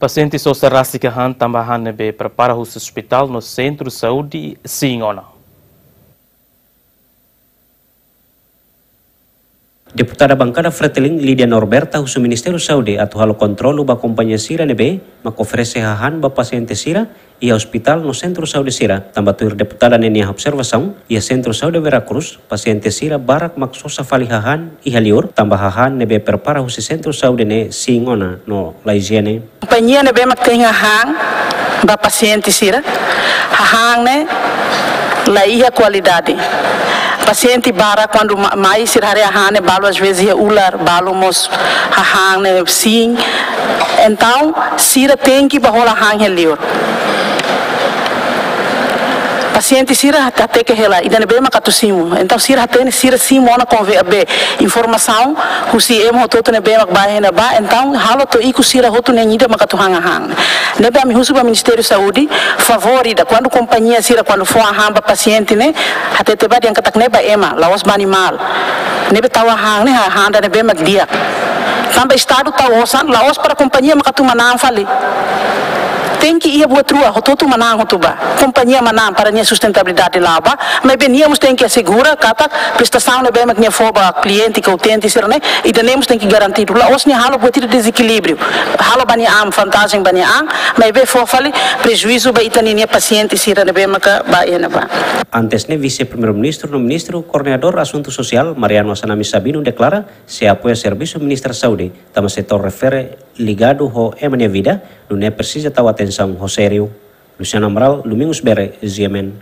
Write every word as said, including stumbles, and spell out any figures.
Pasiente sosa rasik hahán tanba hahán ne'ebé prepara husi ospitál no sentru saúde Siñona. Deputada Bankada Fretilin Lídia Norberta husu Ministériu Saúde atu halo kontrolu ba kompañia sira ne'ebé mak oferese hahán ba pasiente sira iha ospitál no sentru saúde sira. Tanba tuir deputada ne'e nia observasaun, iha sentru saúde Vera Cruz, pasiente sira barak mak sosa fali hahán iha liur, tanba hahán ne'ebé prepara husi sentru saúde ne'e sei ona no la ijiene. Kompañia ne'ebé mak tein hahán ba pasiente sira, hahán ne'e la iha kualidade. Pasiente barak kuandu ma-, mai sira haree hahán ne'e balu às vezes iha ular, balu mós hahán ne'e sin. Entaun, sira tenke bá hola hahán iha liur. Pasiente sira hateke hela, ida ne'ebé mak atu simu. Entaun, sira hatene, sira simu ona konve-, be, informasaun husi ema hotu-hotu ne'ebé mak bá iha ne'ebá. Entaun, halo to'o ikus sira hotu na'in ida mak atu han hahán. Ne'ebé ami husu ba Ministériu Saúde, favór ida, kuandu kompañia sira, kuandu fó hahán ba pasiente ne'e, hatete ba dehan katak ne'e ba ema, la'ós ba animál. Ne'ebé tau hahán ne'e, hahán ida ne'ebé mak di'ak. Tanba Estadu tau osan, la'ós para kompañia mak atu manán fali. Tenke iha buat rua, hotu-hotu manán hotu ba. Kompañia manán para nia sustentabilidade la'o ba, maibé nia mós tenke asegura katak prestasaun ne'ebé mak nia fó ba kliente ka utente sira-ne'e, ida-ne'e mós tenke garantidu. La'ós nia halo buat ida dezekilíbriu. Halo ba nia an, vantajen ba nia an, maibé fó fali prejuízu ba ita-nia pasiente sira ne'ebé maka bá iha ne'ebá. Antes ne'e, Vise-Primeiru-Ministru no Ministru Koordenadór Asuntu Sosiál, Mariano Assanami Sabino, deklara sei apoia servisu Ministra Saúde, tanba setór refere ligadu ho ema nia vida, nune'e presiza tau atensaun ho sériu. Luciano Amaral, Domingos Bere, G M N.